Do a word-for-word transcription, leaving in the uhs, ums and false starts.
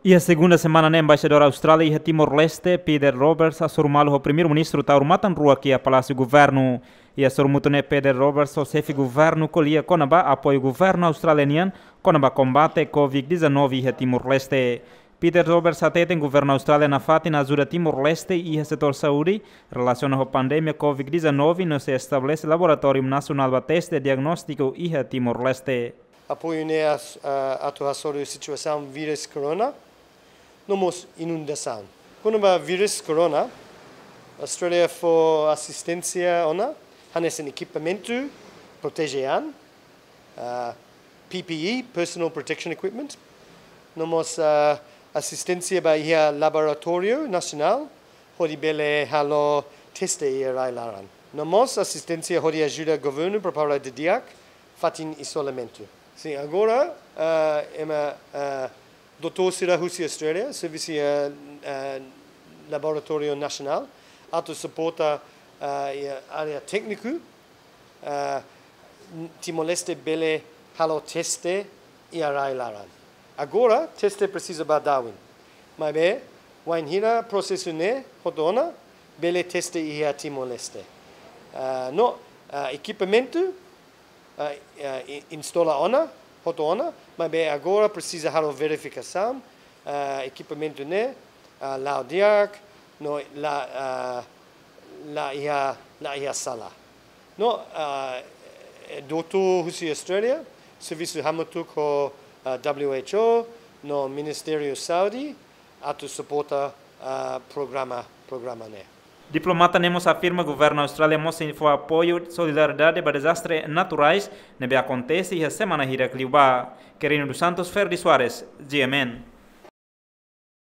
Iha segunda semana ne'e, Embaixadór Austrália iha Timor-Leste, Peter Roberts, hasoru malu ho Primeiru-Ministru Taur Matan Ruak iha Palásiu Governu. Iha sorumutu ne'e, Peter Roberts ho Xefe Governu ko'alia kona-ba apoiu Governu Austrália nian kona-ba kombate Covid dezanove iha Timor-Leste. Peter Roberts hateten Governu Austrália nafatin ajuda Timor-Leste iha setór saúde, relasiona ho pandemia Covid dezanove, no sei estabelese laboratóriu nasionál ba teste diagnóstiku iha Timor-Leste. Apoiu ne'e as-, ah, atu hasoru situasaun vírus corona, no mós inundasaun. Kona-ba vírus corona, Austrália fó asisténsia ona, hanesan ekipamentu, proteje an, ah, P P E, Personal Protection Equipment, no mós, ah, asisténsia ba iha laboratóriu nasionál, hodi bele halo teste iha rai laran. No mós asisténsia hodi ajuda governu prepara didi'ak fatin izolamentu. Sin, agora, ah, ema, ah, doutór sira husi Austrália, servisu iha, ah, laboratóriu nasionál, atu suporta, ah, iha área tékniku, ah, Timor-Leste bele halo teste iha rai laran. Agora, teste presiza ba Darwin. Maibé, wainhira prosesu ne'e hotu ona, bele teste iha Timor-Leste. Ah, no, ah, ekipamentu, ah, ah, i-, instala ona, hotu ona, maibé agora presiza halo verifikasaun, ah, ekipamentu ne'e, ah, la'o di'ak, no la, ah, la iha, la iha sala. No, ah, doutór husi Austrália, servisu hamutuk ho, ah, W H O, no Ministériu Saúde, atu suporta, ah, programa, programa ne'e. Diplomata ne'e mós afirma Governu Austrália mós sei fó apoiu solidariedade ba dezastre naturais ne'ebé akontese iha semana hirak liubá. Quirino dos Santos, Ferdi Soares, G M N.